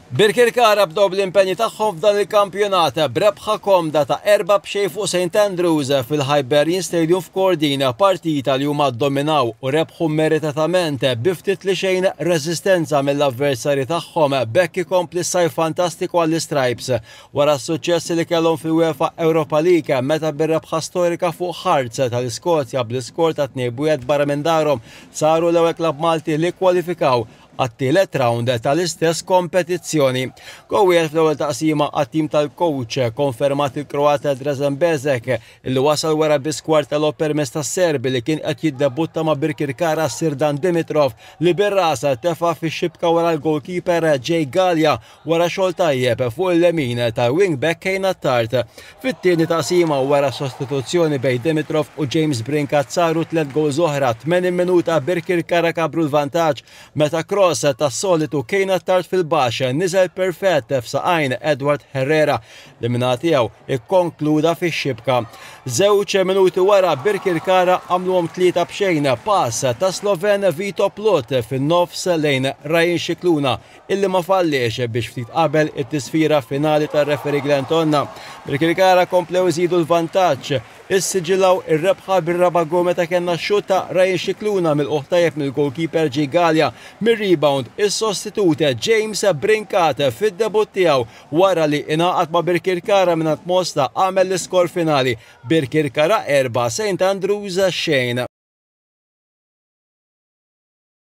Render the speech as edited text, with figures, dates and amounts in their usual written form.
Birkirkara bdew bl-impenji tagħhom f'dan il-kampjonat b'rebħa komda ta' 4-0 fuq St Andrews fil-Hibernian Stadium f'Kordin, partita li huma ddominaw u rebħu meritatament bi ftit li xejn reżistenza mill-avversarji tagħhom. B'hekk ikompli s-sajf fantastiku għall-Istripes wara s-suċċess li kellhom fil-UEFA Europa League meta bir-rebħa storika fuq Hearts tal-Iskozja bl-iskor ta' 2-1 barra minn darhom saru l-ewwel klabb Malti li kkwalifikaw għat-tielet rawnd tal-istess kompetizzjoni. Goal wieħed fl-ewwel taqsima għat-tim tal-coach konfermat il-Kroat Drazen Bezek illi wasal wara biss kwart ta' logħob permezz tas-Serbi li kien qed jiddebutta ma' Birkirkara Sirdan Dimitrov li bir-ras tefa' fix-xibka wara l-goalkeeper Jay Galea wara xogħol tajjeb fuq il-lemin tal-wing-back Kane Attard. Fit-tieni taqsima wara sostituzzjoni bejn Dimitrov u James Brincat saru tlett gowls oħra 80 minuta Birkirkara kabru l-vantaġġ meta cross tas-solitu Kane Attard fil-baxx niżel perfett f'saqajn Edward Herrera li min-naħa tiegħu ikkonkluda fix-xibka. Żewġ minuti wara Birkirkara għamluhom 3-0 pass ta' Sloven Vito Plut fin-nofs lejn Ryan Scicluna illi ma falliex biex ftit qabel it-tisfira finali tar-referee Glenn Tonna, Birkirkara komplew iżidu l-vantaġġ. Issiġillaw ir-rebħa bir-raba' goal meta kellna x-xutt ta' Ryan Scicluna milqugħ tajjeb mill-goalkeeper Jake Galea. Mir-rebound, is-sostitut James Brincat fid-debutt tiegħu wara li ingħaqad ma' Birkirkara mingħand Mosta għamel l-iskor finali, Birkirkara 4, St Andrews xejn.